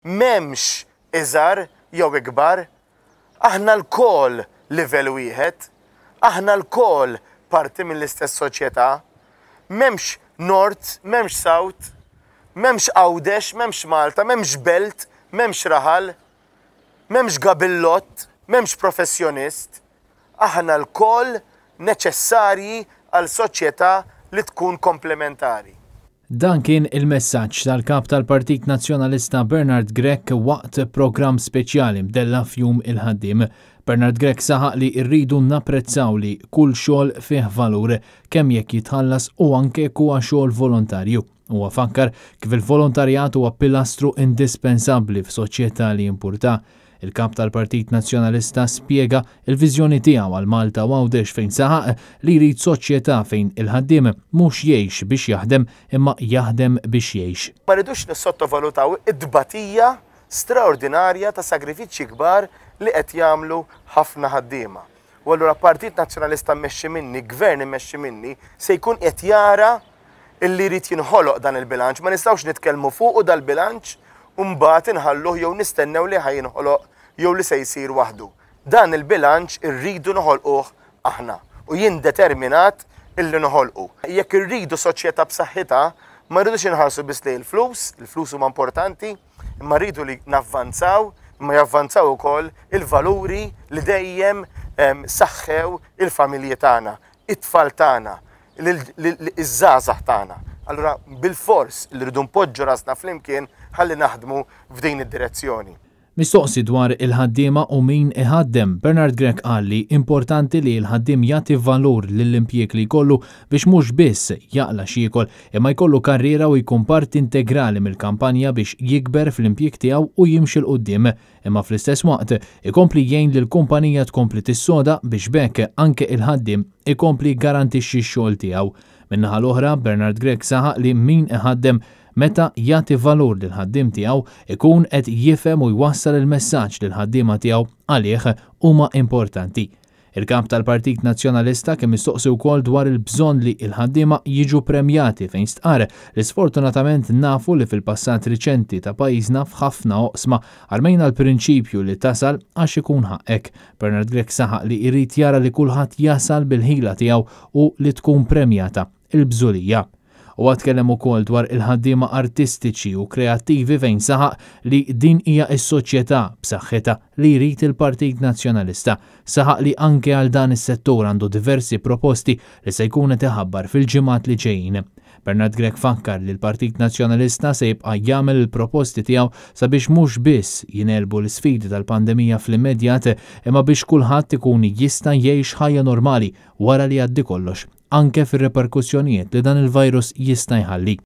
M'hemmx iżgħar jew ikbar. Aħna lkoll livell wieħed. Aħna lkoll parti mill-istess soċjetà. M'hemmx North, m'hemmx South, m'hemmx Għawdex, m'hemmx Malta, m'hemmx belt, m'hemmx raħal, m'hemmx gabillott, m'hemmx professjonist. Aħna lkoll neċessarji għal soċjetà li tkun komplementari. Dan kien il-messaġġ tal-Kap tal-Partit Nazzjonalista Bernard Grech waqt programm speċjali mdella f'Jum il-Ħaddiem. Bernard Grech saħaq li rridu napprezzaw li kull xogħol fih valur, kemm jekk jitħallas u anke jekk huwa xogħol volontarju. Huwa fakkar kif il-volontarjat huwa pilastru indispensabbli f'soċjetà li jimpurta. Il-Kap tal-Partit Nazzjonalista spjega l-viżjoni tiegħu għal Malta u Għawdex fejn saħaq li jrid soċjetà fejn il-ħaddiem mhux jgħix biex jaħdem imma jaħdem biex jgħix. Ma rridux nissottovalutaw it-tbatija straordinarja ta' sagrifiċċji kbar li qed jagħmlu ħafna ħaddiema. U allura Partit Nazzjonalista mmexxi minni, Gvern immexxi minni, se jkun qiegħed jara illi jrid jinħoloq dan il-bilanċ. Ma nistgħux nitkellmu fuqu dal-bilanċ u mbagħad inħalluh jew nistennew li ħa jinħoloq jew li se jsir waħdu. Dan il-bilanċ irridu noħolquh aħna u jien determinat illi noħolqu. Jekk irridu soċjetà b'saħħitha, ma rridux inħarsu biss lejn il-flus, il-flus huma importanti, imma rridu li navvanzaw, imma javvanzaw ukoll il-valuri li dejjem saħħew il-familji tagħna, it-tfal tagħna, iż-żgħażagħ tagħna. Allura bilfors li rridu npoġġu rasna flimkien ħalli naħdmu f'din id-direzzjoni. Mistoqsi dwar il-ħaddiema u min iħaddem, Bernard Grech qal li importanti li l-ħaddiem jagħti valur lill-impjieg li jkollu biex mhux biss jaqla' x'jiekol imma jkollu karriera u jkun parti integrali mill-kampanja biex jikber fl-impjieg tiegħu u jimxi 'l quddiem imma fl-istess waqt ikompli jgħin lill-kumpanija tkompli tissoda biex b'hekk anke il-ħaddiem ikompli jgarantixxi x-xogħol tiegħu. Min-naħa l-oħra, Bernard Grech saħaq li min iħaddem meta jagħti valur lill-ħaddiem tiegħu ikun qed jifhem u jwassal il-messaġġ li l-ħaddiema tiegħu għalih huma importanti. Il-Kap tal-Partit Nazzjonalista kien mistoqsi wkoll dwar il-bżonn li l-ħaddiema jiġu premjati fejn stqarr li sfortunatament nafu li fil-passat riċenti ta' pajjiżna f'ħafna oqsma armejna l-prinċipju li tasal għax ikun ħaqqek. Bernard Grech saħaq li jrid jara li kulħadd jasal bil-ħila tiegħu u li tkun premjata il-bżulija. Huwa tkellem ukoll dwar il-ħaddiema artistiċi u kreattivi fejn saħaq li din hija s-soċjetà b'saħħitha li jrid il-Partit Nazzjonalista. Saħaq li anke għal dan is-settur għandu diversi proposti li se jkun qed iħabbar fil-ġimgħat li ġejjin. Bernard Grech fakkar li l-Partit Nazzjonalista se jibqa' jagħmel il-proposti tiegħu sabiex mhux biss jingħelbu l-isfidi tal-pandemija fl-immedjat imma biex kulħadd ikun jista' jgħix ħajja normali wara li jgħaddi kollox anke fir-riperkussjonijiet li dan il-virus jista' jħalli.